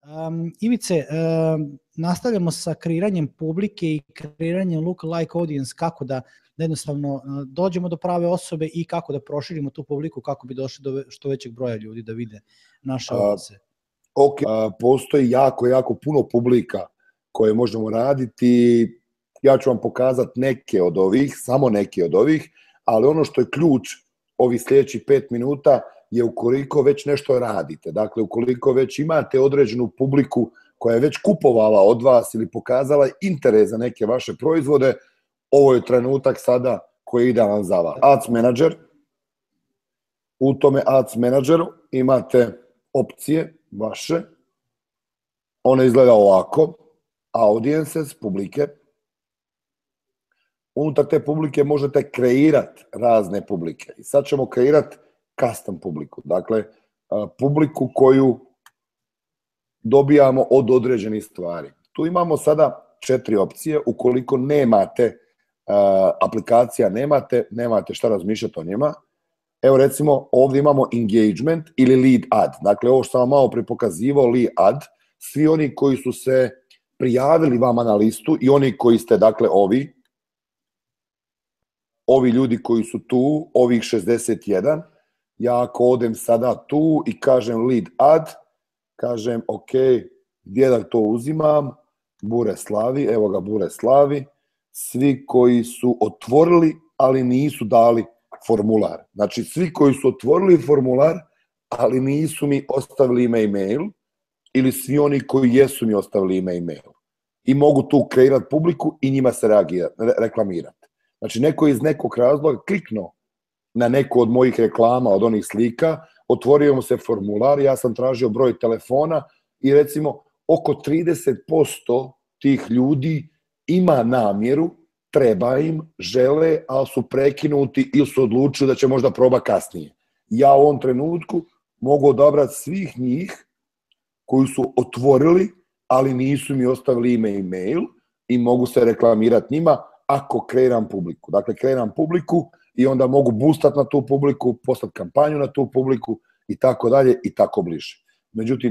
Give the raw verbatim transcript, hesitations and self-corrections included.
Um, Ivice, um, nastavljamo sa kreiranjem publike i kreiranjem look-alike audience, kako da, da jednostavno uh, dođemo do prave osobe i kako da proširimo tu publiku, kako bi došli do što većeg broja ljudi da vide naše oglase. Uh, ok, uh, postoji jako, jako puno publika koje možemo raditi. Ja ću vam pokazati neke od ovih, samo neke od ovih, ali ono što je ključ ovih sljedećih pet minuta je ukoliko već nešto radite. Dakle, ukoliko već imate određenu publiku koja je već kupovala od vas ili pokazala interes za neke vaše proizvode, ovo je trenutak sada koji je idealan za vas. Ads Manager. U tome Ads Manageru imate opcije vaše. One izgleda ovako. Audiences, publike. Unutar te publike možete kreirati razne publike. I sad ćemo kreirati custom publiku. Dakle, publiku koju dobijamo od određenih stvari. Tu imamo sada četiri opcije. Ukoliko nemate aplikacija, nemate, nemate šta razmišljati o njima. Evo recimo ovdje imamo engagement ili lead ad. Dakle, ovo što sam vam malo pripokazivao, lead ad. Svi oni koji su se prijavili vama na listu i oni koji ste, dakle, ovi, ovi ljudi koji su tu, ovih šezdeset jedan, ja ako odem sada tu i kažem lead ad, kažem ok, gdje da to uzimam, Bure Slavi, evo ga Bure Slavi, svi koji su otvorili, ali nisu dali formular. Znači, svi koji su otvorili formular, ali nisu mi ostavili ime i mail, ili svi oni koji jesu mi ostavili ime i mail. I mogu tu kreirati publiku i njima se reklamirati. Znači, neko iz nekog razloga kliknuo na neku od mojih reklama, od onih slika, otvorio mu se formular, ja sam tražio broj telefona i recimo oko trideset posto tih ljudi ima namjeru, treba im, žele, ali su prekinuti ili su odlučili da će možda proba kasnije. Ja u ovom trenutku mogu odabrati svih njih koji su otvorili, ali nisu mi ostavili ime i mail i mogu se reklamirati njima ako kreiram publiku. Dakle, kreiram publiku i onda mogu boostati na tu publiku, poslati kampanju na tu publiku i tako dalje i tako bliže. Međutim,